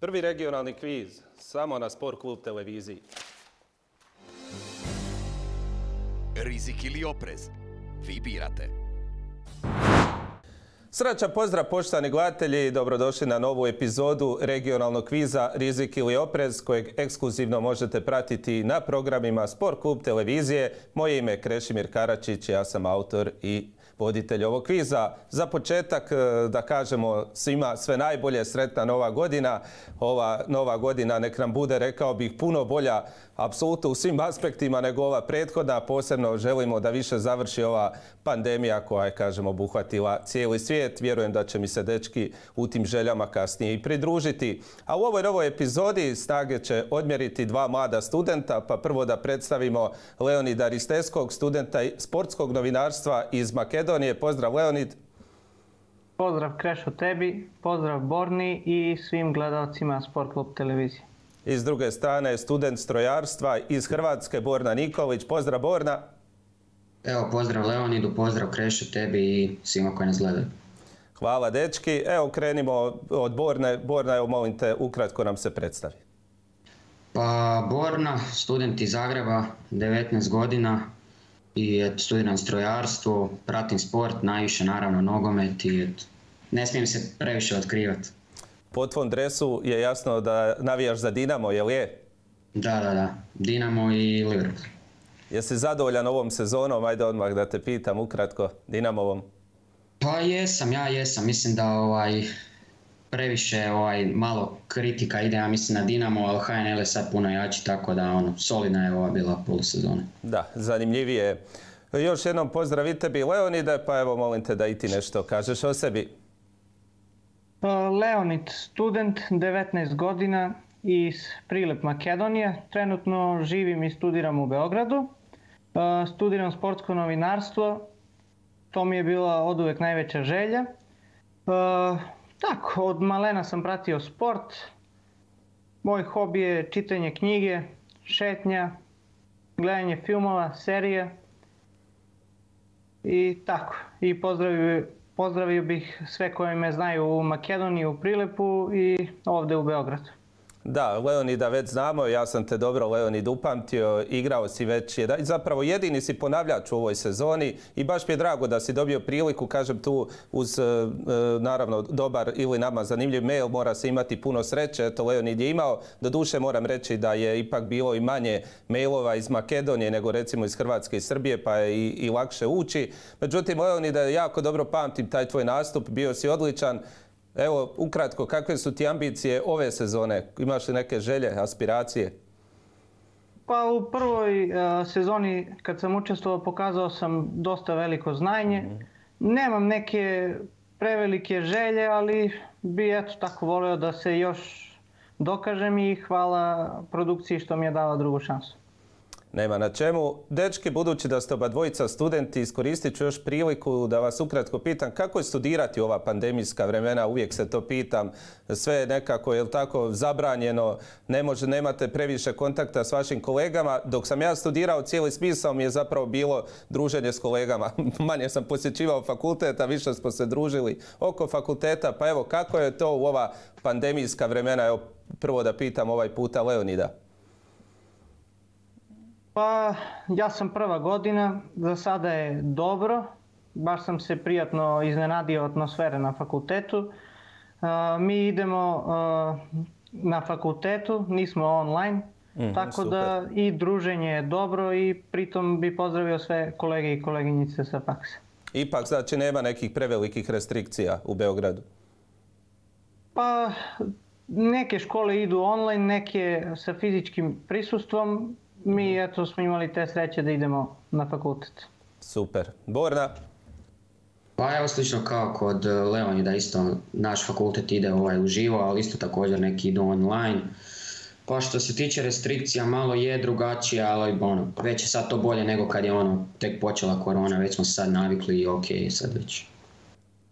Prvi regionalni kviz, samo na Sport klub televiziji. Rizik ili oprez? Vi birate. Srećan pozdrav poštovani gledatelji i dobrodošli na novu epizodu regionalnog kviza Rizik ili oprez kojeg ekskluzivno možete pratiti na programima Sport klub televizije. Moje ime je Krešimir Karačić, ja sam autor i voditelj ovog kviza. Za početak da kažemo svima sve najbolje, sretna nova godina. Ova nova godina nek nam bude, rekao bih, puno bolja apsolutno u svim aspektima nego ova prethodna. Posebno želimo da više završi ova pandemija koja je, kažemo, obuhvatila cijeli svijet. Vjerujem da će mi se dečki u tim željama kasnije i pridružiti. A u ovoj novoj epizodi snage će odmjeriti dva mlada studenta, pa prvo da predstavimo Leonida Risteskog, studenta sportskog novinarstva iz Makedonije. Pozdrav Leonid. Pozdrav Krešo tebi, pozdrav Borni i svim gledalcima Sport klub televizije. I s druge strane student strojarstva iz Hrvatske Borna Nikolić. Pozdrav Borna. Evo, pozdrav Leonidu, pozdrav Krešo tebi i svima koji nas gledaju. Hvala dečki. Evo krenimo od Borne. Borna, evo molim te, ukratko nam se predstavi. Pa Borna, student iz Zagreba, 19 godina i studiram strojarstvo, pratim sport, najviše naravno nogomet i ne smijem se previše otkrivati. Po tvom dresu je jasno da navijaš za Dinamo, jel je? Da. Dinamo i Liverpool. Jesi zadovoljan ovom sezonom? Ajde odmah da te pitam ukratko, Dinamovom. Pa jesam. Mislim da previše malo kritika ide, ja mislim, na Dinamo, ali HNL je sad puno jači, tako da solidna je ova bila polusezona. Da, zanimljivije. Još jednom pozdrav i tebi Leonide, pa evo molim te da i ti nešto kažeš o sebi. Leonid, student, 19 godina iz Prilep, Makedonije. Trenutno živim i studiram u Beogradu. Studiram sportsko novinarstvo. To mi je bila oduvek najveća želja. Tako, od malena sam pratio sport. Moj hobi je čitanje knjige, šetnja, gledanje filmova, serije. I tako. I pozdravio bih sve koji me znaju u Makedoniji, u Prilepu i ovdje u Beogradu. Da, Leonida već znamo, ja sam te dobro, Leonid, upamtio, igrao si već, zapravo jedini si ponavljač u ovoj sezoni i baš mi je drago da si dobio priliku, kažem tu, uz naravno dobar ili nama zanimljiv mail, mora se imati puno sreće, eto Leonid je imao, doduše moram reći da je ipak bilo i manje mailova iz Makedonije nego recimo iz Hrvatske i Srbije, pa je i lakše ući. Međutim, Leonida, jako dobro pamtim taj tvoj nastup, bio si odličan. Evo, ukratko, kakve su ti ambicije ove sezone? Imaš li neke želje, aspiracije? Pa u prvoj sezoni kad sam učestvovao pokazao sam dosta veliko znanje. Nemam neke prevelike želje, ali bi eto tako volio da se još dokažem i hvala produkciji što mi je dala drugu šansu. Nema na čemu. Dečki, budući da ste oba dvojica studenti, iskoristit ću još priliku da vas ukratko pitam kako je studirati ova pandemijska vremena, uvijek se to pitam. Sve je nekako, je li tako, zabranjeno, nemate previše kontakta s vašim kolegama. Dok sam ja studirao, cijeli smisao mi je zapravo bilo druženje s kolegama. Manje sam posjećivao fakultet, a više smo se družili oko fakulteta. Pa evo, kako je to u ova pandemijska vremena? Evo, prvo da pitam ovaj puta Leonida. Pa ja sam prva godina, za sada je dobro, baš sam se prijatno iznenadio atmosfere na fakultetu. Mi idemo na fakultetu, nismo online, tako super. Da i druženje je dobro i pritom bi pozdravio sve kolege i koleginice sa faksa. Ipak znači nema nekih prevelikih restrikcija u Beogradu? Pa neke škole idu online, neke sa fizičkim prisustvom. Mi eto smo imali te sreće da idemo na fakultet. Super. Borna? Pa evo slično kao kod Leonida, isto naš fakultet ide uživo, ali isto također neki idu online. Pa što se tiče restrikcija, malo je drugačije, ali već je sad to bolje nego kad je tek počela korona, već smo sad navikli i ok, sad već.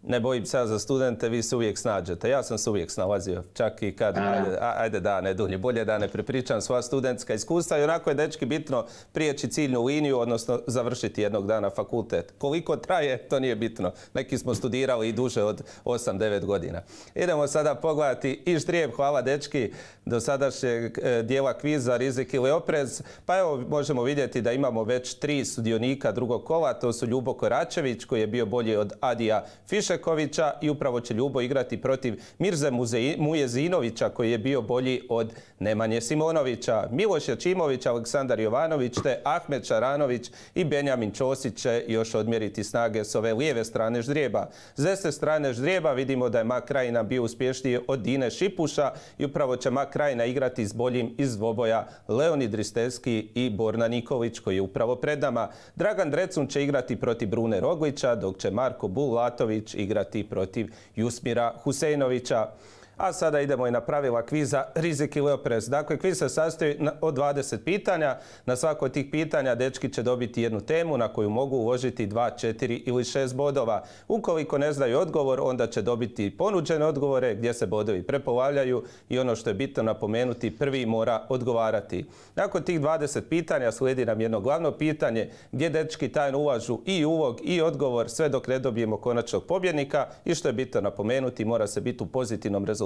Ne bojim se ja za studente, vi se uvijek snađete. Ja sam se uvijek snalazio, čak i kad, ajde da ne dulje, bolje da ne prepričam svoja studentska iskustva i onako je, dečki, bitno prijeći ciljnu liniju, odnosno završiti jednog dana fakultet. Koliko traje, to nije bitno. Neki smo studirali i duže od 8-9 godina. Idemo sada pogledati i ždrijeb, hvala dečki, do sadašnjeg dijela kviza Rizik ili oprez. Pa evo, možemo vidjeti da imamo već 3 sudionika drugog kola, to su Ljubo Koračević koji je bio bolji od Adija Fišekovića i upravo će Ljubo igrati protiv Mirze Mujezinovića koji je bio bolji od Nemanje Simonovića. Miloš Jačimović, Aleksandar Jovanović te Ahmed Šaranović i Benjamin Ćosić će još odmjeriti snage s ove lijeve strane ždrijeba. S desne strane ždrijeba vidimo da je Mak Krajina bio uspješniji od Dine Šipuša i upravo će Mak Krajina igrati s boljim iz dvoboja Leonid Ristevski i Borna Nikolić koji je upravo pred nama. Dragan Drecun će igrati protiv Brune Roglića, dok će Marko Bulatović igrati protiv Jusmira Huseinovića. A sada idemo i na pravila kviza Rizik ili oprez. Dakle, kviz se sastoji od 20 pitanja. Na svako od tih pitanja dečki će dobiti jednu temu na koju mogu uložiti 2, 4 ili 6 bodova. Ukoliko ne znaju odgovor, onda će dobiti ponuđene odgovore gdje se bodovi prepolavljaju i ono što je bitno napomenuti, prvi mora odgovarati. Nakon tih 20 pitanja slijedi nam jedno glavno pitanje gdje dečki tajno ulažu i ulog i odgovor sve dok ne dobijemo konačnog pobjednika i što je bitno napomenuti, mora se biti u pozitivnom rezultatu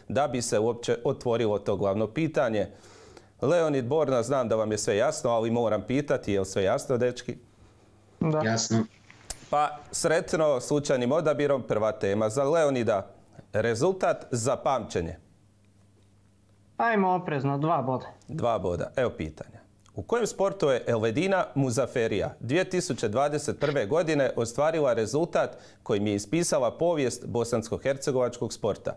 da bi se uopće otvorilo to glavno pitanje. Leonid, Borna, znam da vam je sve jasno, ali moram pitati, je li sve jasno, dečki? Da. Jasno. Pa sretno slučajnim odabirom, prva tema za Leonida. Rezultat za pamćenje. Ajmo oprezno, 2 boda. 2 boda. Evo pitanja. U kojem sportu je Elvedina Muzaferija 2021. godine ostvarila rezultat kojim je ispisala povijest bosansko-hercegovačkog sporta?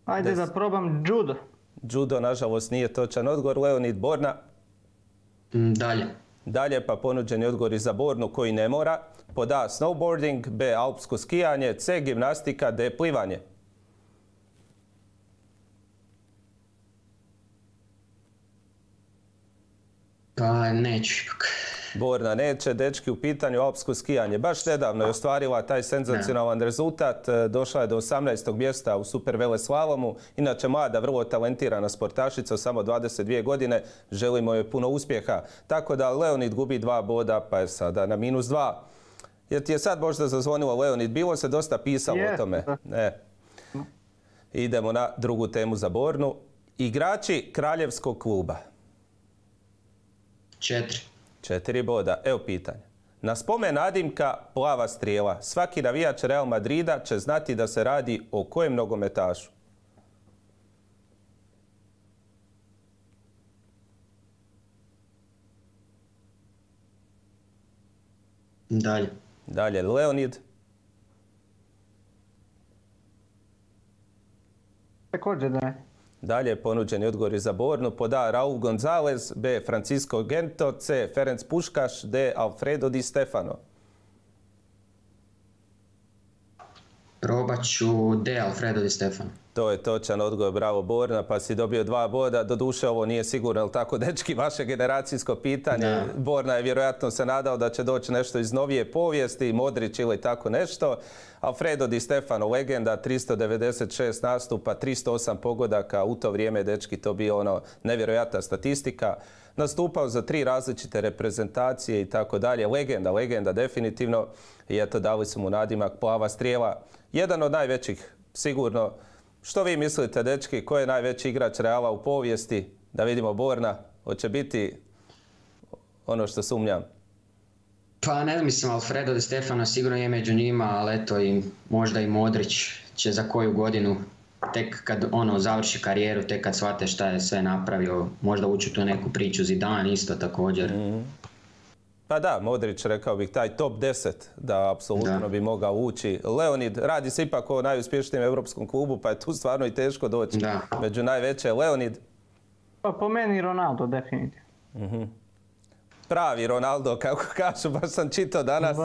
Ajde da probam judo. Judo, nažalost, nije točan odgovor. Leonid, Borna? Dalje. Dalje, pa ponuđeni odgovori za Bornu koji ne mora. Pod A snowboarding, B alpsko skijanje, C gimnastika, D plivanje. Pa neću ipak. Borna neće, dečki, u pitanju alpsko skijanje. Baš nedavno je ostvarila taj senzacionalan rezultat. Došla je do 18. mjesta u super veleslalomu. Inače, mlada, vrlo talentirana sportašica, samo 22 godine. Želimo joj puno uspjeha. Tako da Leonid gubi 2 boda, pa je sada na -2. Jer ti je sad možda zazvonilo, Leonid? Bilo se dosta pisalo o tome. Ne. Idemo na drugu temu za Bornu. Igrači kraljevskog kluba. 4 boda. Evo pitanje. Na spomen nadimka Plava strijela svaki navijač Real Madrida će znati da se radi o kojem nogometašu? Dalje. Dalje, Leonid. Također da je. Dalje, ponuđeni odgovori za Bornu. Pod A Raul Gonzalez, B Francisco Gento, C Ferenc Puškaš, D Alfredo Di Stefano. Probat ću D Alfredo Di Stefano. To je točan odgovor, bravo Borna, pa si dobio 2 boda. Doduše, ovo nije sigurno, ali tako, dečki, vaše generacijsko pitanje. Da. Borna je vjerojatno se nadao da će doći nešto iz novije povijesti, Modrić ili tako nešto. Alfredo Di Stefano, legenda, 396 nastupa, 308 pogodaka. U to vrijeme, dečki, to bio ono nevjerojatna statistika. Nastupao za 3 različite reprezentacije i tako dalje. Legenda definitivno. I eto, dali su mu nadimak Plava strijela. Jedan od najvećih, sigurno. Što vi mislite, dečki, ko je najveći igrač Reala u povijesti? Da vidimo, Borna, hoće biti ono što sumnjam. Pa ne mislim, Alfredo Di Stefano sigurno je među njima, ali eto i možda i Modrić će za koju godinu, tek kad završi karijeru, tek kad shvate šta je sve napravio, možda ući u tu neku priču. Zidane isto također. Pa da, Modrić, rekao bih, taj top 10 da apsolutno bi mogao ući. Leonid, radi se ipak o najuspješnijem europskom klubu, pa je tu stvarno i teško doći među najveće. Leonid? Pa po meni Ronaldo, definitivno. Pravi Ronaldo, kako kažu, baš sam čitao danas,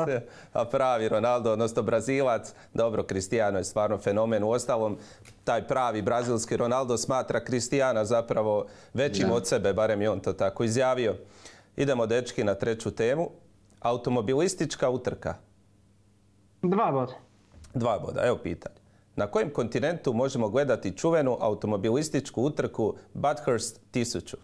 a pravi Ronaldo, odnosno Brazilac. Dobro, Cristiano je stvarno fenomen. U ostalom, taj pravi brazilski Ronaldo smatra Cristiana zapravo većim od sebe, barem je on to tako izjavio. Idemo, dečki, na treću temu. Automobilistička utrka. 2 boda. 2 boda, evo pitanje. Na kojem kontinentu možemo gledati čuvenu automobilističku utrku Bathurst 1000?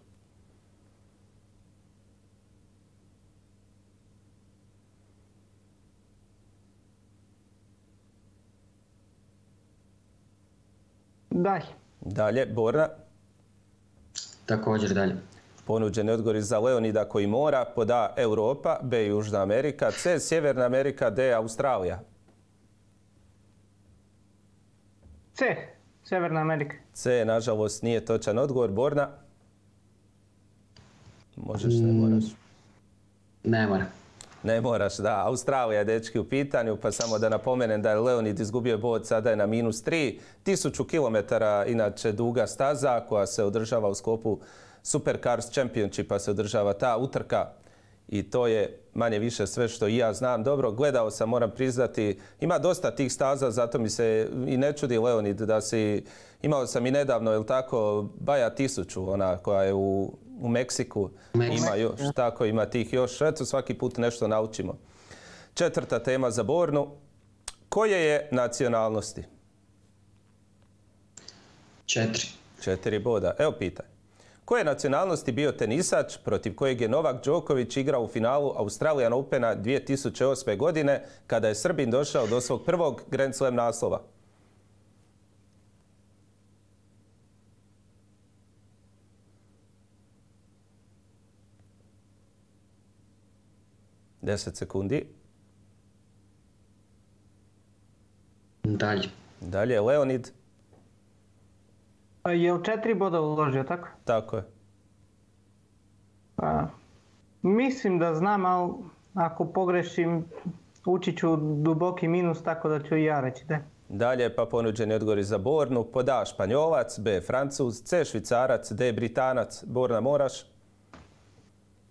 Daj. Dalje, Borna. Također dalje. Ponuđeni odgovori za Leonida koji mora. Pod A Europa, B Južna Amerika, C Sjeverna Amerika, D Australija. C. Sjeverna Amerika. C, nažalost, nije točan odgovor. Borna? Možeš, ne moraš. Ne mora. Ne moraš, da. Australija je, dečki, u pitanju, pa samo da napomenem da je Leonid izgubio bod, sada je na -3. 1000 km, inače duga staza koja se održava u sklopu Supercars Championshipa, se održava ta utrka. I to je manje više sve što i ja znam. Dobro, gledao sam, moram priznati, ima dosta tih staza, zato mi se i ne čudi, Leonid, da si... Imao sam i nedavno, je li tako, Baja 1000, ona koja je u Meksiku. Ima još, tako, ima tih još. Eto, svaki put nešto naučimo. Četvrta tema za Bornu. Koje je nacionalnosti? 4. 4 boda. Evo pitanje. Koje je nacionalnosti bio tenisač protiv kojeg je Novak Đoković igrao u finalu Australian Opena 2008. godine kada je Srbin došao do svog prvog Grand Slam naslova? Deset sekundi. Dalje. Dalje, Leonid. Je u 4 boda uložio, tako? Tako je. Mislim da znam, ali ako pogrešim, ući ću duboki minus, tako da ću i ja reći da. Dalje, pa ponuđeni odgovori za Bornu. Pod A Španjolac, B Francuz, C Švicarac, D Britanac. Borna, moraš?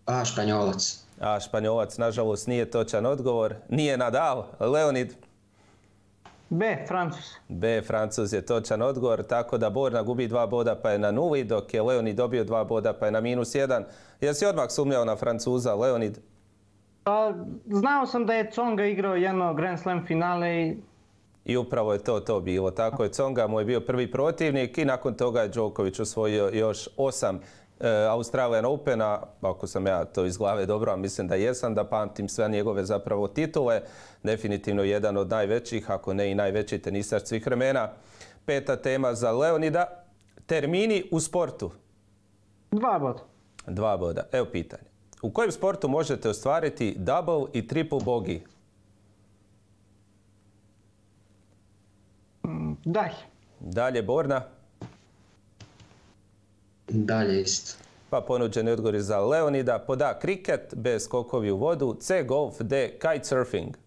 A Španjolac. A Španjolac, nažalost, nije točan odgovor. Nije Nadal. Leonid? B Francuz. B Francuz je točan odgovor, tako da Borna gubi 2 boda pa je na 0, dok je Leonid dobio 2 boda pa je na -1. Jesi odmah sumnjao na Francuza, Leonid? Znao sam da je Tsonga igrao jedno Grand Slam finale I upravo je to bilo. Tako je, Tsonga mu je bio prvi protivnik i nakon toga je Đoković osvojio još 8 Australian Opena, ako sam ja to iz glave dobro, a mislim da jesam, da pamtim sve njegove zapravo titule. Definitivno jedan od najvećih, ako ne i najveći tenisač svih vremena. Peta tema za Leonida. Termini u sportu. 2 boda. 2 boda. Evo pitanje. U kojem sportu možete ostvariti double i triple bogey? Daj. Dalje, Borna. Dalje isto. Pa ponuđeni odgovori za Leonida. Pod A kriket, B skokovi u vodu, C golf, D kitesurfing.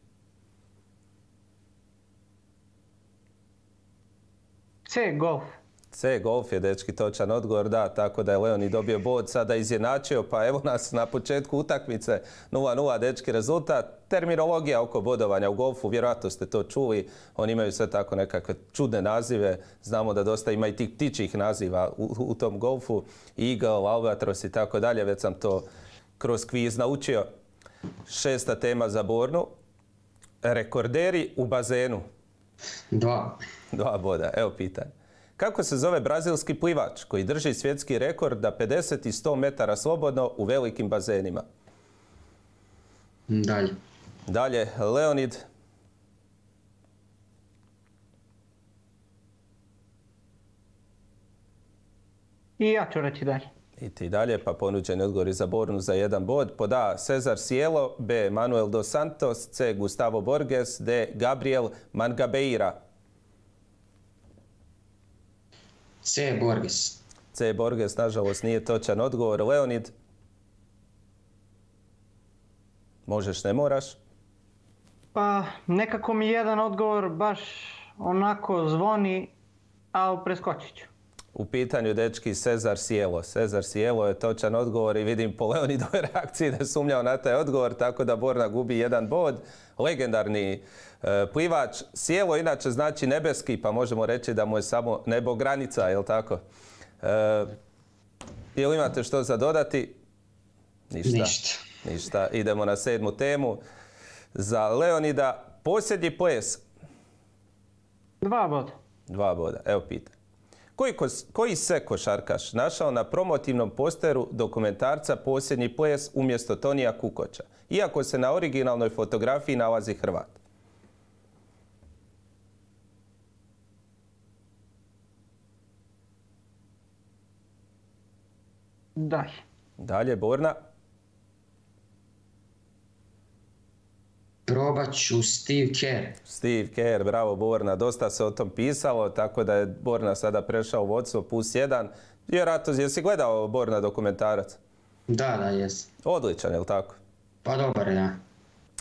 C golf. C golf je, dečki, točan odgovor, da, tako da je Leonid dobio bod, sada izjednačio, pa evo nas na početku utakmice 0:0, dečki, rezultat. Terminologija oko bodovanja u golfu, vjerojatno ste to čuli, oni imaju sve tako nekakve čudne nazive, znamo da dosta ima i tih ptičjih naziva u tom golfu, Eagle, Albatros i tako dalje, već sam to kroz kviz naučio. Šesta tema za Bornu. Rekorderi u bazenu. 2. 2 boda, evo pitanje. Kako se zove brazilski plivač koji drži svjetski rekord na 50 i 100 metara slobodno u velikim bazenima? Dalje. Dalje, Leonid. I ja ću reći dalje. I ti dalje, pa ponuđeni odgovori za Bornu za 1 bod. Pod A Cesar Cielo, B Manuel dos Santos, C Gustavo Borges, D Gabriel Mangabeira. C Borges. C Borges, nažalost, nije točan odgovor. Leonid. Možeš, ne moraš. Pa nekako mi jedan odgovor baš onako zvoni, ali preskočit ću. U pitanju dečki Cezar Cielo. Cezar Cielo je točan odgovor i vidim po Leonidovoj reakciji da je sumnjao na taj odgovor, tako da Borna gubi jedan bod. Legendarni plivač. Cielo inače znači nebeski, pa možemo reći da mu je samo nebo granica, je li tako? Jel imate što za dodati? Ništa. Idemo na 7. temu. Za Leonida posljednji ples. 2 boda. 2 boda. Evo pitanje. Koji se košarkaš našao na promotivnom posteru dokumentarca Posljednji ples umjesto Tonija Kukoća, iako se na originalnoj fotografiji nalazi Hrvat? Dalje, Borna. Probat ću Steve Kerr. Steve Kerr, bravo Borna. Dosta se o tom pisalo, tako da je Borna sada prešao u vodstvo +1. Vjerojatno, jesi gledao Borna dokumentarac? Da, jes. Odličan, je li tako? Pa dobar, da.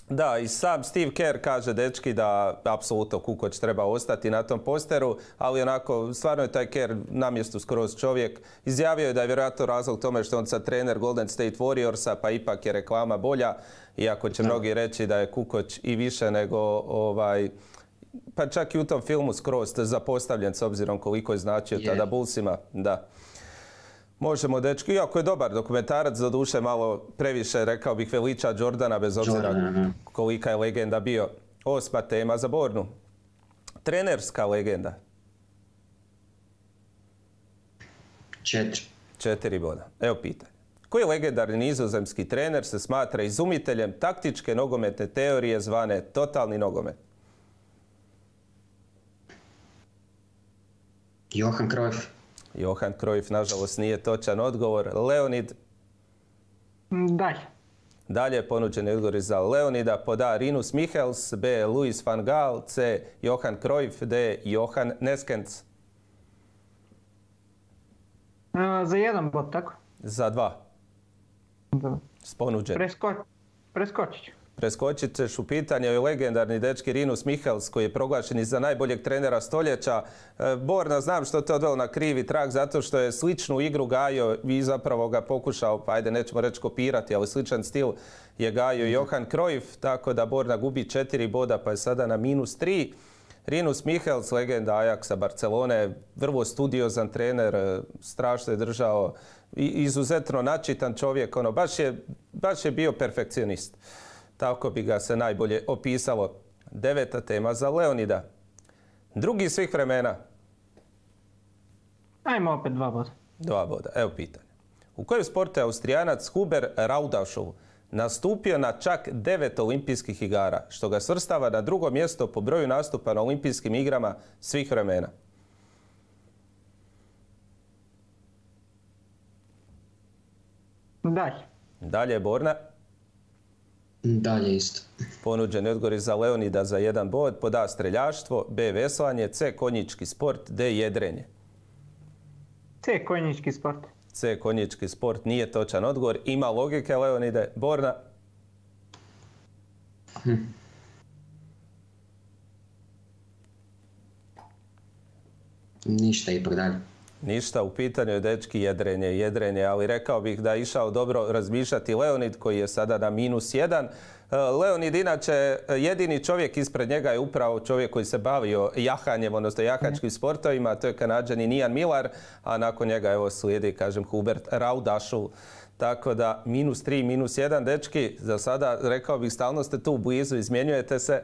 Da, i sam Steve Kerr kaže, dečki, da apsolutno Kukoć treba ostati na tom posteru, ali onako, stvarno je taj Kerr na mjestu skroz čovjek. Izjavio je da je vjerojatno razlog tome što on sad trener Golden State Warriorsa, pa ipak je reklama bolja, iako će mnogi reći da je Kukoć i više nego, pa čak i u tom filmu skroz zapostavljen s obzirom koliko je značio tada Bullsima. Da. Možemo, dečki, iako je dobar dokumentarac, za duše malo previše, rekao bih, veliča Jordana, bez obzira kolika je legenda bio. 8. tema za Bornu. Trenerska legenda. 4 boda. Evo pitanje. Koji legendarni nizozemski trener se smatra izumiteljem taktičke nogometne teorije zvane totalni nogomet? Johan Cruyff. Johan Cruyff, nažalost, nije točan odgovor. Leonid? Dalje ponuđeni odgovori za Leonida. Pod A. Rinus Michels, B. Louis van Gaal, C. Johan Cruyff, D. Johan Neskens. Za 1 bod, tako? Za 2. S ponuđenim. Preskočit ću. Preskočit ćeš u pitanje o legendarni dečki Rinus Michels, koji je proglašen i za najboljeg trenera stoljeća. Borna, znam što te odvelo na krivi trag, zato što je sličnu igru gajio i zapravo ga pokušao, pa ajde nećemo reći kopirati, ali sličan stil je gajio Johan Cruyff, tako da Borna gubi 4 boda, pa je sada na -3. Rinus Michels, legenda Ajaxa Barcelone, vrlo studiozan trener, strašno je držao, izuzetno načitan čovjek, baš je bio perfekcionist. Tako bi ga se najbolje opisalo. 9. tema za Leonida. Drugi svih vremena. Ajmo opet 2 boda. 2 boda. Evo pitanje. U kojem sportu je Austrijanac Huber Raudašov nastupio na čak 9 olimpijskih igara, što ga svrstava na 2. mjesto po broju nastupa na olimpijskim igrama svih vremena? Dalje, Borna. Dalje isto. Ponuđeni odgovori za Leonida za 1 bod. Pod A. streljaštvo, B. veslanje, C. konjički sport, D. jedrenje. C. konjički sport. C. konjički sport nije točan odgovor. Ima logike, Leonide. Borna? Ništa ipak dalje. Ništa, u pitanju je dečki jedrenje, ali rekao bih da je išao dobro razmišljati Leonid, koji je sada na -1. Leonid, inače, jedini čovjek ispred njega je upravo čovjek koji se bavio jahanjem, odnosno jahačkim sportovima, to je Kanađanin Ian Millar, a nakon njega evo slijedi, kažem, Hubert Raudašov. Tako da -3, -1, dečki, za sada rekao bih stalno ste tu blizu, izmjenjujete se,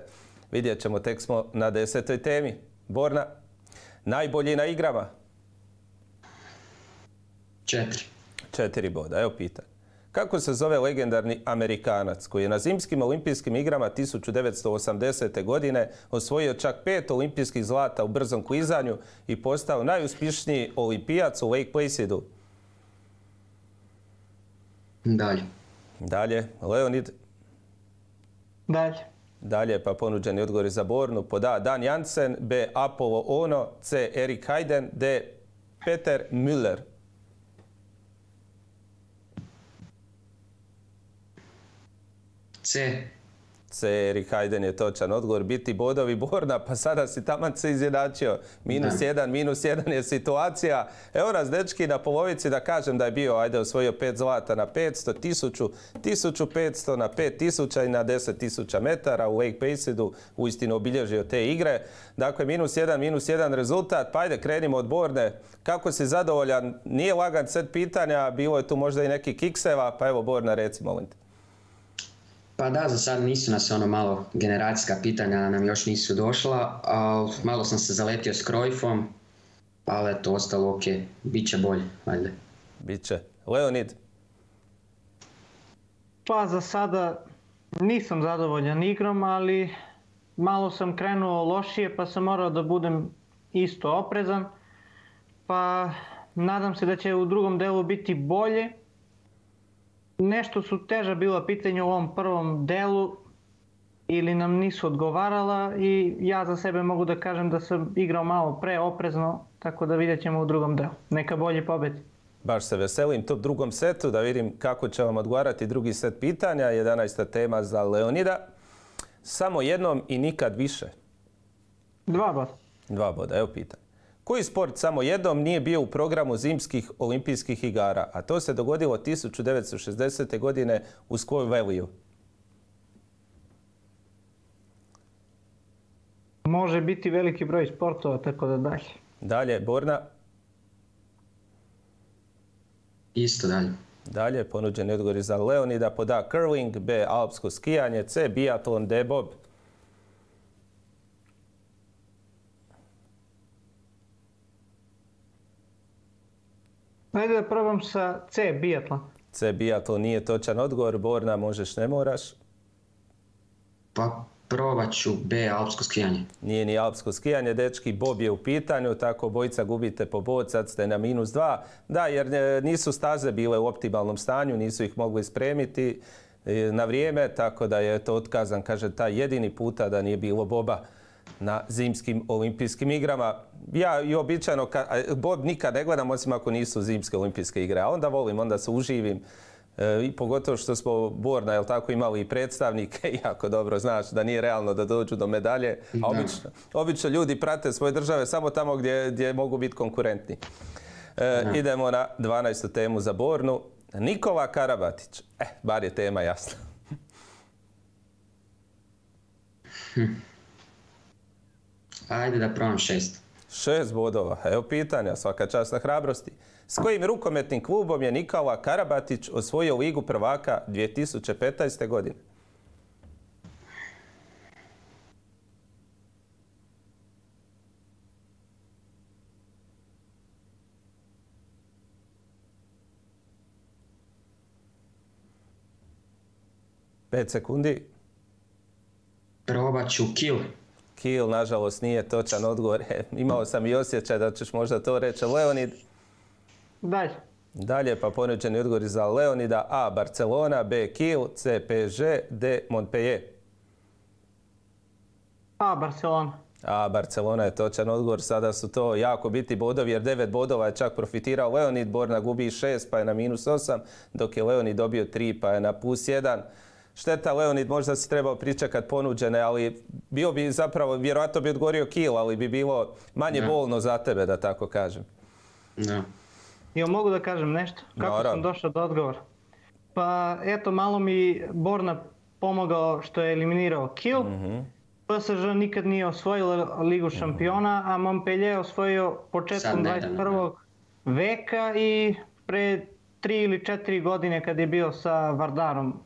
vidjet ćemo, tek smo na 10. temi. Borna, najbolji na igrama? 4 boda, evo pitanje. Kako se zove legendarni Amerikanac koji je na zimskim olimpijskim igrama 1980. godine osvojio čak 5 olimpijskih zlata u brzom klizanju i postao najuspješniji olimpijac u Lake Placida? Dalje, Leonid? Dalje, pa ponuđeni odgovori za Bornu. Pod A. Dan Jansen, B. Apollo Ono, C. Erik Hayden, D. Peter Müller. C. Erik Hajdn je točan odgovor. Biti bodovi Borna, pa sada si taman se izjednačio. -1 je situacija. Evo nas, dečki, na polovici, da kažem da je bio, osvojio 5 zlata na 500, 1000, 1500 na 5000 i na 10.000 metara u Lake Placaidu. Uistinu obilježio te igre. Dakle, -1 rezultat. Pa ajde, krenimo od Borne. Kako si zadovoljan? Nije lagan set pitanja, bilo je tu možda i neki kikseva, pa evo Borna, reci, molim te. Pa da, za sad nisu nas malo generacijska pitanja nam još nisu došla, ali malo sam se zaletio s Cruyffom, ali eto, ostalo ok, bit će bolje, ajde. Biće. Leonid? Pa za sada nisam zadovoljan igrom, ali malo sam krenuo lošije pa sam morao da budem isto oprezan. Pa nadam se da će u drugom delu biti bolje. Nešto su teža bila pitanja u ovom prvom delu ili nam nisu odgovarala i ja za sebe mogu da kažem da sam igrao malo preoprezno, tako da vidjet ćemo u drugom delu. Neka bolje pobedi. Baš se veselim tom drugom setu, da vidim kako će vam odgovarati drugi set pitanja. 11. tema za Leonida. Samo jednom i nikad više. 2 boda. 2 boda, evo pitanje. Koji sport samo jednom nije bio u programu zimskih olimpijskih igara, a to se dogodilo 1960. godine u Squaw Valleyu? Može biti veliki broj sportova, tako da dalje. Dalje, Borna? Isto dalje. Dalje, ponuđeni odgovori za Leonida. Pod A curling, B alpsko skijanje, C biatlon, D bob. Ajde da probam sa C, biatlon. C, biatlon nije točan odgovor. Borna, možeš, ne moraš. Pa probat ću B, alpsko skijanje. Nije ni alpsko skijanje, dečki, bob je u pitanju, tako obojica gubite po bod, sad ste na -2. Da, jer nisu staze bile u optimalnom stanju, nisu ih mogli spremiti na vrijeme, tako da je to otkazan, kaže, taj jedini puta da nije bilo boba na zimskim olimpijskim igrama. Ja i običajno, bob nikad ne gledam, osim ako nisu zimske olimpijske igre, a onda volim, onda se uživim. I pogotovo što smo Borna, jel tako, imali i predstavnike, jako dobro znaš da nije realno da dođu do medalje, a obično ljudi prate svoje države samo tamo gdje mogu biti konkurentni. Idemo na 12. temu za Bornu. Nikola Karabatić. Bar je tema jasna. Ajde da probam 6. 6 bodova. Evo pitanja, svaka čast na hrabrosti. S kojim rukometnim klubom je Nikola Karabatić osvojio Ligu prvaka 2015. godine? Pet sekundi. Probat ću Kiel. Kiel, nažalost, nije točan odgovor. Imao sam i osjećaj da ćeš možda to reći. Leonid? Dalje. Dalje, pa ponuđeni odgovori za Leonida. A. Barcelona, B. Kiel, C. PSG, D. Montpellier. A. Barcelona. A. Barcelona je točan odgovor. Sada su to jako biti bodovi, jer 9 bodova je čak profitirao Leonid. Borna gubi 6, pa je na -8, dok je Leonid dobio 3, pa je na +1. Šteta, Leonid, možda si trebao pričekat ponuđene, ali bio bi zapravo, vjerojatno bi odgovorio Kiel, ali bi bilo manje bolno za tebe, da tako kažem. Da. Jel mogu da kažem nešto? Kako sam došao do odgovora? Pa eto, malo mi Borna pomogao što je eliminirao Kiel. PSG nikad nije osvojila Ligu šampiona, a Montpellier je osvojio početkom 21. veka i pre 3 ili 4 godine kad je bio sa Vardarom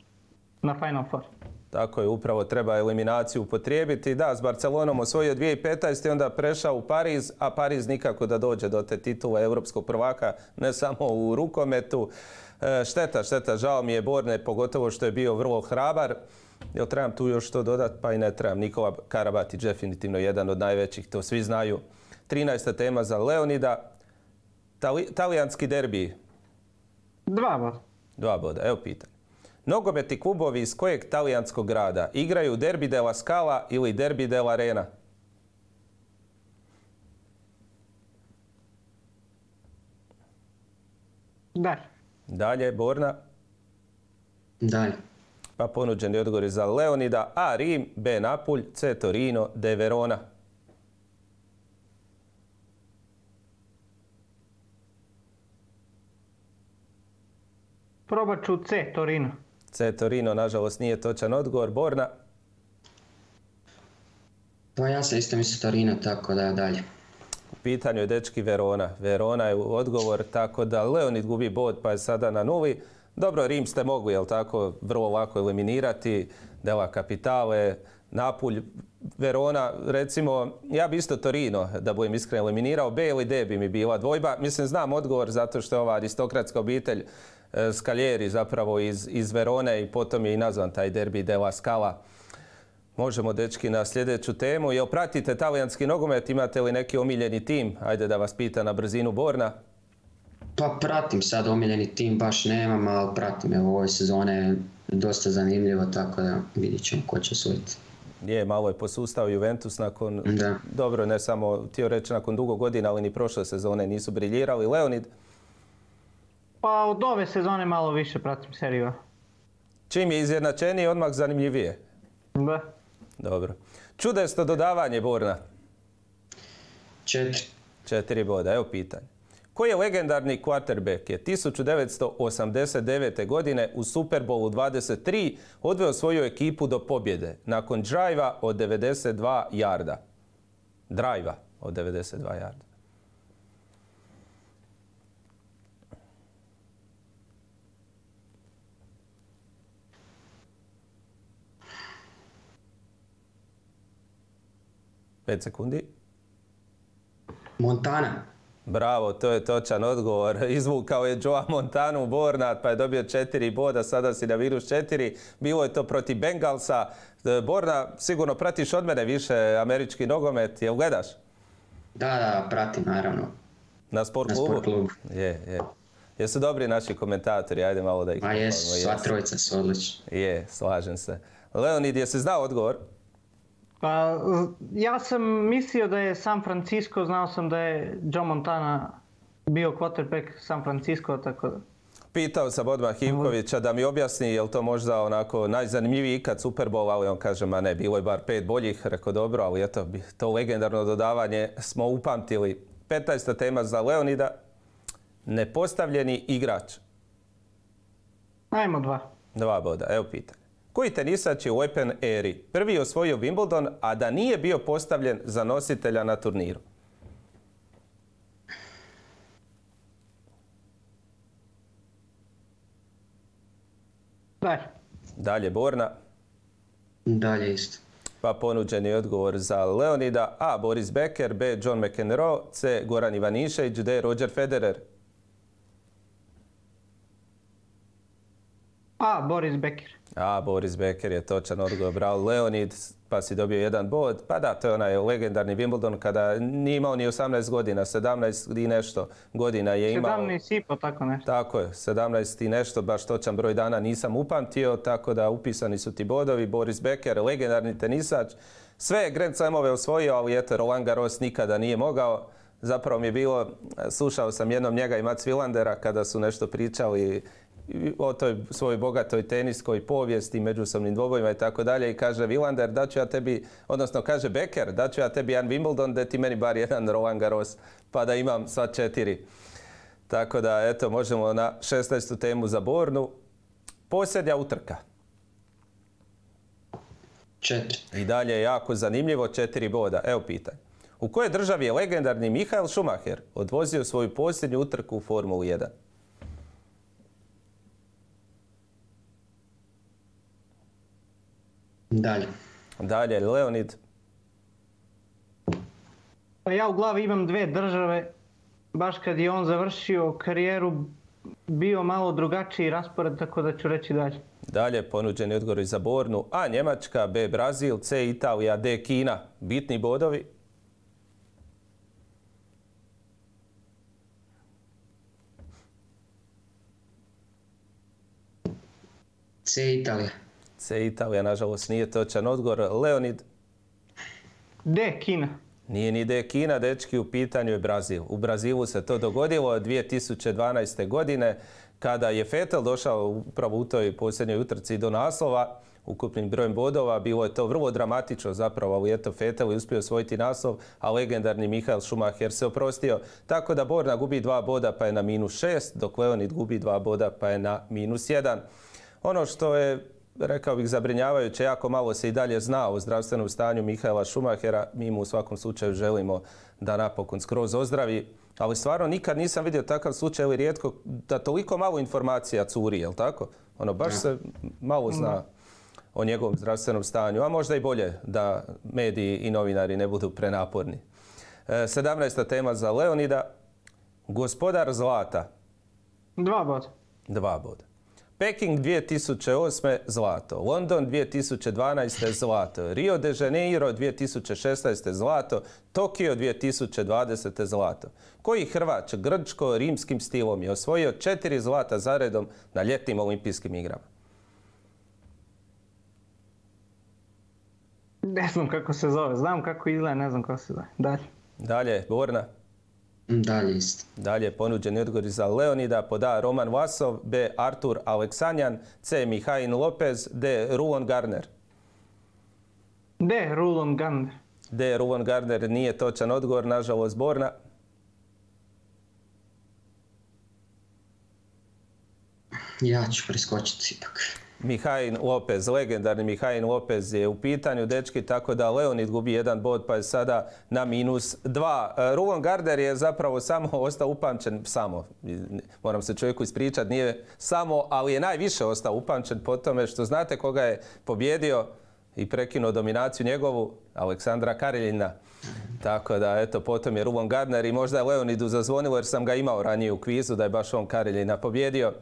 na Final Four. Tako je, upravo treba eliminaciju upotrijebiti. Da, s Barcelonom osvojio 2015. i onda prešao u Pariz, a Pariz nikako da dođe do te titule europskog prvaka, ne samo u rukometu. Šteta, žao mi je Borne, pogotovo što je bio vrlo hrabar. Jel trebam tu još to dodati? Pa i ne trebam. Nikola Karabatić definitivno jedan od najvećih, to svi znaju. 13. tema za Leonida. Talijanski derbi. 2 boda. 2 boda, evo pitanje. Nogometni klubovi iz kojeg talijanskog grada igraju Derbi della Scala ili Derbi dell'Arena? Dalje. Dalje, Borna? Dalje. Pa ponuđeni odgovori za Leonida. A. Rim, B. Napulj, C. Torino, D. Verona. Probat ću C, Torino. C. Torino, nažalost, nije točan odgovor. Borna? Pa ja sam isto mislio Torino, tako da dalje. U pitanju je dečki Verona. Verona je odgovor, tako da Leonid gubi bod pa je sada na 0. Dobro, Rim ste mogli, jel tako, vrlo lako eliminirati. Della Capitale, Napulj, Verona, recimo, ja bi isto Torino, da budem iskren, eliminirao. B ili D bi mi bila dvojba. Mislim, znam odgovor zato što je ova aristokratska obitelj Scaglieri zapravo iz Verone i potom je i nazvan taj derbi della Scala. Možemo, dečki, na sljedeću temu. Jel pratite talijanski nogomet? Imate li neki omiljeni tim? Ajde da vas pita na brzinu Borna. Pa pratim sad omiljeni tim, baš nemam, ali pratim. Evo, ove sezone dosta zanimljivo, tako da vidit ćemo ko će osvojiti. Je, malo je posustao Juventus nakon, dobro, ne samo htio reći nakon dugo godina, ali ni prošle sezone nisu briljirali. Leonid? Pa od ove sezone malo više pratim seriju. Čim je izjednačeniji, odmah zanimljivije? Da. Dobro. Čudesto dodavanje, Borna? 4. 4 boda, evo pitanje. Koji je legendarni quarterback je 1989. godine u Super Bowlu 23 odveo svoju ekipu do pobjede nakon drajva od 92 jarda? Drajva od 92 jarda. Pet sekundi. Montana. Bravo, to je točan odgovor. Izvukao je Joe Montanu Borna, pa je dobio 4 boda, sada si na -4. Bilo je to protiv Bengalsa. Borna, sigurno pratiš od mene više američki nogomet, jel gledaš? Da, pratim, naravno. Na Sport klubu? Je. Jesu dobri naši komentatori, ajde malo da ih... Pa jesu, sva trojica su odlični. Je, slažem se. Leonid, jesi znao odgovor? Pa, ja sam mislio da je San Francisco, znao sam da je Joe Montana bio quarterback San Francisco, tako da... Pitao sam odmah Ivkovića da mi objasni je li to možda onako najzanimljiviji ikad Super Bowl, ali on kaže, ma ne, bilo je bar 5 boljih, rekao dobro, ali eto, to legendarno dodavanje smo upamtili. 15. tema za Leonida, nepostavljeni igrač. Ajmo 2. 2 boda, evo pitanje. Koji tenisač je u Open eri prvi osvojio Wimbledon, a da nije bio postavljen za nositelja na turniru? Dalje, Borna. Dalje isto. Pa ponuđeni odgovor za Leonida. A. Boris Becker, B. John McEnroe, C. Goran Ivanišević, D. Roger Federer. A. Boris Becker. A. Boris Becker je točan odgovor. Bravo, Leonid, pa si dobio 1 bod. Pa da, to je onaj legendarni Wimbledon kada nije imao ni 18 godina, 17 i nešto godina je imao. 17 i po, tako nešto. Tako je, 17 i nešto, baš točan broj dana nisam upamtio, tako da upisani su ti bodovi. Boris Becker, legendarni tenisač. Sve Grand Slamove osvojio, ali eto, Roland Garros nikada nije mogao. Zapravo mi je bilo, slušao sam jednom njega i Mats Wilandera kada su nešto pričali o toj svojoj bogatoj teniskoj povijesti, međusobnim dvobojima i tako dalje. I kaže Wilander, daću ja tebi, odnosno kaže Becker, daću ja tebi jedan Wimbledon, da ti meni bar jedan Roland Garros, pa da imam sva 4. Tako da, eto, možemo na 16. temu za Bornu. Posljednja utrka. 4. I dalje je jako zanimljivo, 4 boda. Evo pitanje. U kojoj državi je legendarni Michael Schumacher odvozio svoju posljednju utrku u Formulu 1? Dalje, Leonid. Pa ja u glavi imam 2 države. Baš kad je on završio karijeru, bio malo drugačiji raspored, tako da ću reći dalje. Dalje, ponuđeni odgovori za Bornu. A. Njemačka, B. Brazil, C. Italija, D. Kina. Bitni bodovi. C. Italija. C. Italija, nažalost, nije točan odgovor. Leonid. D. Kina. Nije ni D. Kina, dečki, u pitanju je Brazil. U Brazilu se to dogodilo 2012. godine Kada je Vettel došao upravo u toj posljednjoj utrci do naslova, ukupnim brojem bodova, bilo je to vrlo dramatično zapravo, ali eto Vettel je uspio osvojiti naslov, a legendarni Michael Schumacher se oprostio. Tako da Borna gubi 2 boda pa je na -6, dok Leonid gubi 2 boda pa je na -1. Ono što je, rekao bih, zabrinjavajuće, jako malo se i dalje zna o zdravstvenom stanju Michaela Schumachera. Mi mu u svakom slučaju želimo da napokon skroz ozdravi. Ali stvarno nikad nisam vidio takav slučaj, ili rijetko, da toliko malo informacija curi, jel tako? Ono, baš se malo zna o njegovom zdravstvenom stanju, a možda i bolje da mediji i novinari ne budu prenaporni. 17. tema za Leonida. Gospodar zlata. 2 boda. 2 boda. Peking 2008. zlato. London 2012. zlato. Rio de Janeiro 2016. zlato. Tokio 2020. zlato. Koji Hrvat grčko-rimskim stilom je osvojio 4 zlata zaredom na ljetnim olimpijskim igrama? Ne znam kako se zove. Znam kako izgleda, ne znam kako se zove. Dalje. Dalje, Borna. Dalje isto. Dalje, ponuđeni odgovori za Leonida. Pod A. Roman Vlasov. B. Artur Aleksanjan. C. Mihail Lopez. D. Rulon Garner. D. Rulon Garner. D. Rulon Garner nije točan odgovor, nažalost, Borna. Ja ću preskočiti ipak. Mihail Lopez, legendarni Mihail Lopez je u pitanju, dečki, tako da Leonid gubi 1 bod pa je sada na -2. Rulon Garner je zapravo samo ostao upamćen, moram se čovjeku ispričati, nije samo, ali je najviše ostao upamćen po tome što znate koga je pobjedio i prekinuo dominaciju njegovu, Aleksandra Kareljina. Tako da, eto, potom je Rulon Garner i možda je Leonidu zazvonilo jer sam ga imao ranije u kvizu da je baš on Kareljina pobjedio.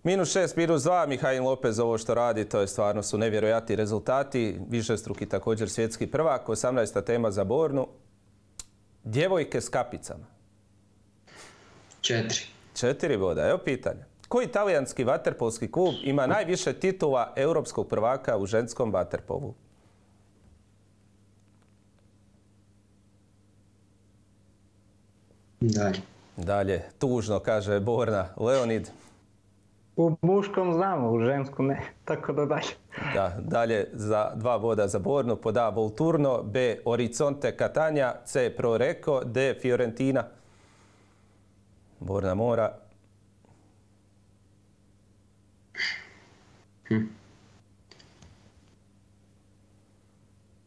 -6, -2, Mihail Lopez ovo što radi, to je stvarno su nevjerojatni rezultati, višestruki također svjetski prvak. 18. tema za Bornu. Djevojke s kapicama. 4. 4 boda, evo pitanja. Koji talijanski vaterpolski klub ima najviše titula europskog prvaka u ženskom vaterpolu? Dalje. Dalje, tužno, kaže Borna. Leonid. U muškom znamo, u ženskom ne. Tako da dalje. Da, dalje za 2 boda za Bornu. Pod A. Volturno. B. Orizzonte Catania. C. Pro Recco. D. Fiorentina. Borna mora.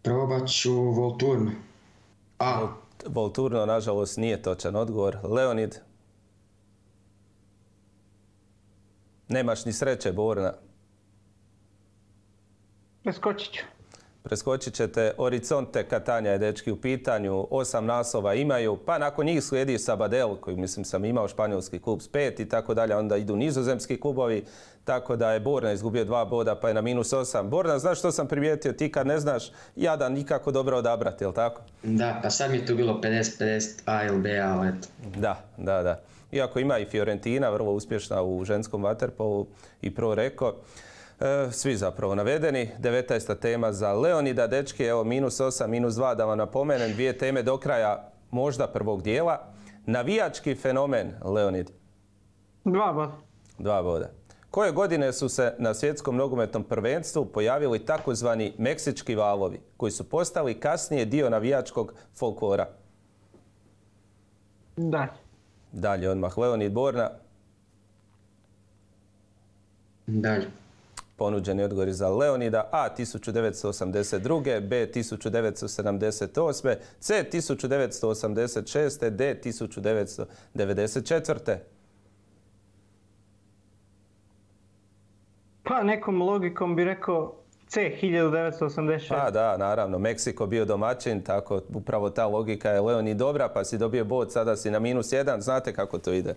Probat ću Volturno. A. Volturno, nažalost, nije točan odgovor. Leonid. Nemaš ni sreće, Borna. Preskočit ću. Preskočit ćete. Orizzonte Catania je, dečki, u pitanju. 8 naslova imaju, pa nakon njih slijedi Sabadell, koji mislim sam imao, španjolski klub s 5 i tako dalje. Onda idu nizozemski klubovi, tako da je Borna izgubio 2 boda pa je na -8. Borna, znaš što sam primijetio? Ti kad ne znaš, jadan nikako dobro odabrati, jel tako? Da, pa sad mi je tu bilo 50-50 A ili B, ali eto. Da. Iako ima i Fiorentina, vrlo uspješna u ženskom vaterpolu, i Pro Recco. Svi zapravo navedeni. 19. tema za Leonida, dečki, evo -8, -2, da vam napomenem, 2 teme do kraja možda prvog dijela. Navijački fenomen, Leonid. 2 boda. 2 boda. Koje godine su se na svjetskom nogometnom prvenstvu pojavili takozvani meksički valovi, koji su postali kasnije dio navijačkog folklora? Dalje odmah Leonid. Borna. Dalje. Ponuđeni odgovori za Leonida. A. 1982. B. 1978. C. 1986. D. 1994. Pa nekom logikom bi rekao C. 1986. Pa da, naravno. Meksiko bio domaćin, tako upravo ta logika je, Leonid, dobra, pa si dobio bod, sada si na -1. Znate kako to ide?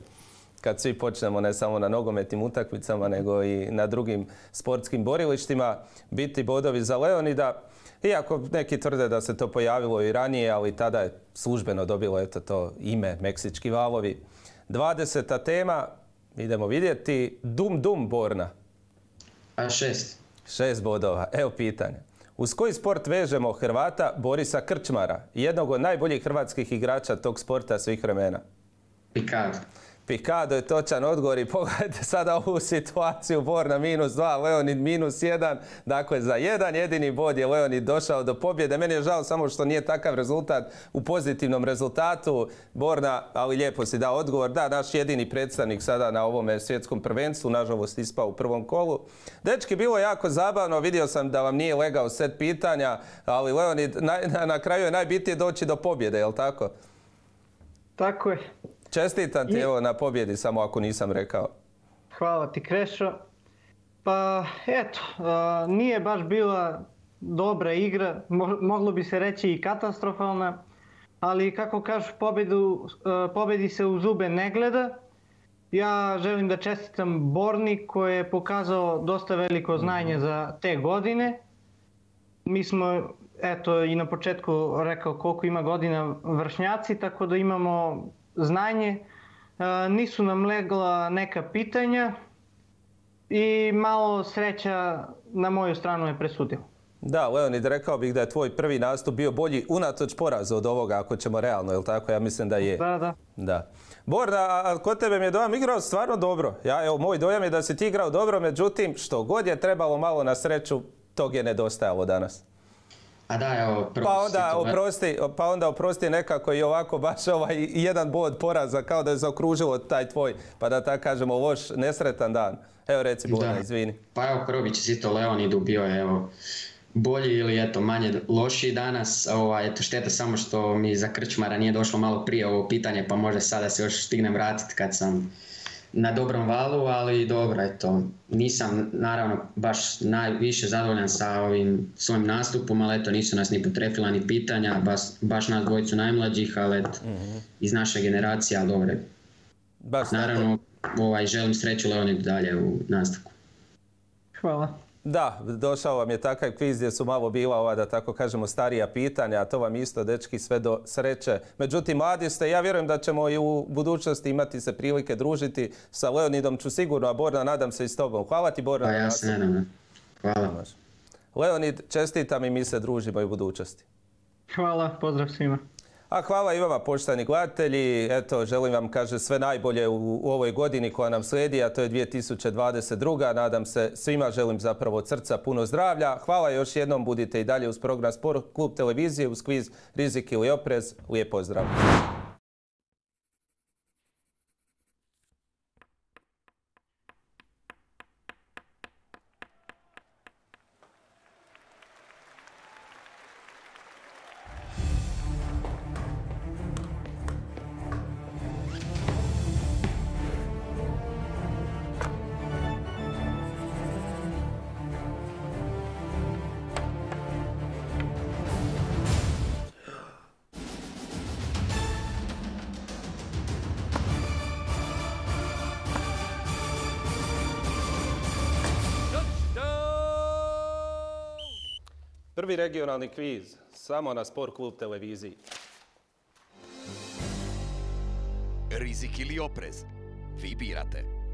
Kad svi počnemo ne samo na nogometnim utakmicama, nego i na drugim sportskim borilištima, biti bodovi za Leonida. Iako neki tvrde da se to pojavilo i ranije, ali tada je službeno dobilo eto to ime Meksički valovi. 20. tema, idemo vidjeti. Dum Borna. A 6. 6 bodova. Evo pitanja. Uz koji sport vežemo Hrvata Borisa Krčmara, jednog od najboljih hrvatskih igrača tog sporta svih vremena? Pikado je točan odgovor i pogledajte sada ovu situaciju. Borna -2, Leonid -1. Dakle, za jedan jedini bod je Leonid došao do pobjede. Meni je žao samo što nije takav rezultat u pozitivnom rezultatu. Borna, ali lijepo si dao odgovor. Da, naš jedini predstavnik sada na ovome svjetskom prvenstvu, nažalost ispao u prvom kolu. Dečki, bilo je jako zabavno. Vidio sam da vam nije legao set pitanja, ali Leonid, na kraju je najbitnije doći do pobjede, je li tako? Tako je. Čestitam ti evo na pobjedi, samo ako nisam rekao. Hvala ti, Krešo. Pa eto, nije baš bila dobra igra, moglo bi se reći i katastrofalna, ali kako kažu, pobjedi se u zube ne gleda. Ja želim da čestitam Borni koji je pokazao dosta veliko znanje za te godine. Mi smo, eto, i na početku rekao koliko ima godina vršnjaci, tako da imamo znanje. Nisu nam legla neka pitanja i malo sreća na moju stranu je presudila. Da, Leonid, rekao bih da je tvoj prvi nastup bio bolji unatoč porazu od ovoga, ako ćemo realno, je li tako? Ja mislim da je. Da. Borna, a kod tebe mi je dojam igrao stvarno dobro. Moj dojam je da si ti igrao dobro, međutim, što god je trebalo malo na sreću, tog je nedostajalo danas. A da, evo, pa onda oprosti nekako i ovako baš jedan bod poraza, kao da je zaokružilo taj tvoj, pa da tako kažemo, loš, nesretan dan. Evo reci, Borna, izvini. Pa evo, prvo bi čestitao Leonidu, bio je evo bolji ili eto manje lošiji danas. Eto, šteta samo što mi za krčmara nije došlo malo prije ovo pitanje, pa možda sada se još stignem vratiti kad sam na dobrom valu, ali dobro, eto, nisam naravno baš najviše zadovoljan sa ovim svojim nastupom, ali eto, nisu nas ni potrefila ni pitanja, baš nas dvojicu najmlađih, ali eto, iz naše generacije, ali dobro. Naravno, želim sreću Leonidu dalje u nastavku. Hvala. Da, došao vam je takav kviz gdje su malo bila ova, da tako kažemo, starija pitanja, a to vam isto, dečki, sve do sreće. Međutim, mladi ste, ja vjerujem da ćemo i u budućnosti imati se prilike družiti. Sa Leonidom ću sigurno, a Borna, nadam se i s tobom. Hvala ti, Borna. Pa ja se nadam. Hvala. Leonid, čestitam i mi se družimo i u budućnosti. Hvala, pozdrav svima. A hvala i vama, poštovani gledatelji. Eto, želim vam, sve najbolje u ovoj godini koja nam slijedi, a to je 2022. Nadam se, svima želim zapravo od srca puno zdravlja. Hvala još jednom, budite i dalje uz program Sport Klub televizije, uz kviz Rizik ili oprez. Lijep pozdrav. Prvi regionalni kviz, samo na Sport Klub televiziji. Rizik ili oprez? Vi birate.